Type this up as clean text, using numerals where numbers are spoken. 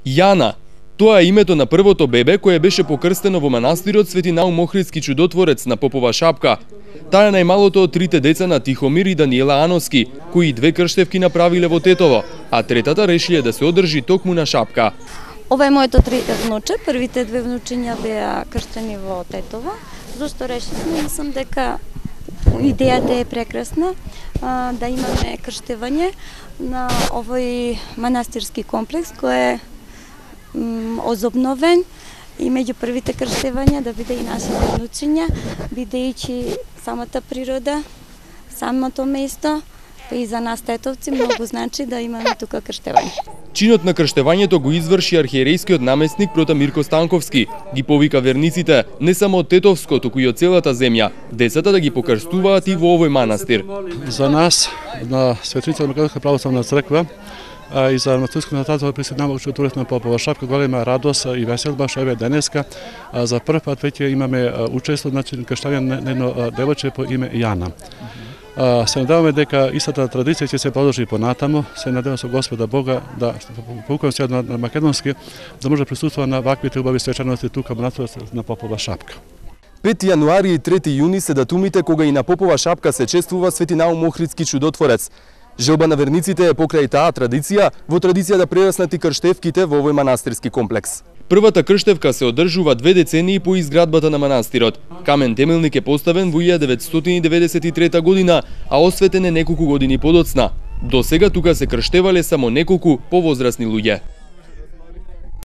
Јана. Тоа е името на првото бебе кое беше покрстено во манастирот Свети Наум Охридски чудотворец на Попова Шапка. Таа е најмалото од трите деца на Тихомир и Даниела Аноски, кои две крштевки направиле во Тетово, а третата решиле да се одржи токму на Шапка. Ова е моето трите внуче, првите две внучиња беа крштени во Тетово. Зошто решивме, мислам дека идејата е прекрасна, да имаме крштевање на овој манастирски комплекс кој е озобновен и меѓу првите крштевања да биде и нашите внучиња, бидејќи самата природа, самото место, и за нас тетовци многу значи да имаме тука крштевање. Чинот на крштевањето го изврши архиерейскиот наместник прота Мирко Станковски. Ги повика верниците не само од Тетовско, туку и од целата земја, децата да ги покрстуваат и во овој манастир. За нас, на Светица Македонска православна црква, и за Матујското нататово присутнава чудотворец на Попова Шапка, голема радост и веселба што еве денеска за прв пат веќе имаме учество, значи крштање на едно девојче по име Јана. Се надеваме дека истата традиција ќе се продолжи понатаму. Се надевам со Господа Бога да повукам се на македонски да може да присуствува на ваквите убави свечаности тука на Попова Шапка. 5 јануари и 3 јуни се датумите кога и на Попова Шапка се чествува Свети Наум Охридски чудотворец. Желба на верниците е покрај таа традиција, во традиција да прераснат и крштевките во овој манастирски комплекс. Првата крштевка се одржува 2 децении по изградбата на манастирот. Камен темелник е поставен во 1993 година, а осветен е неколку години подоцна. До сега тука се крштевале само неколку повозрасни луѓе.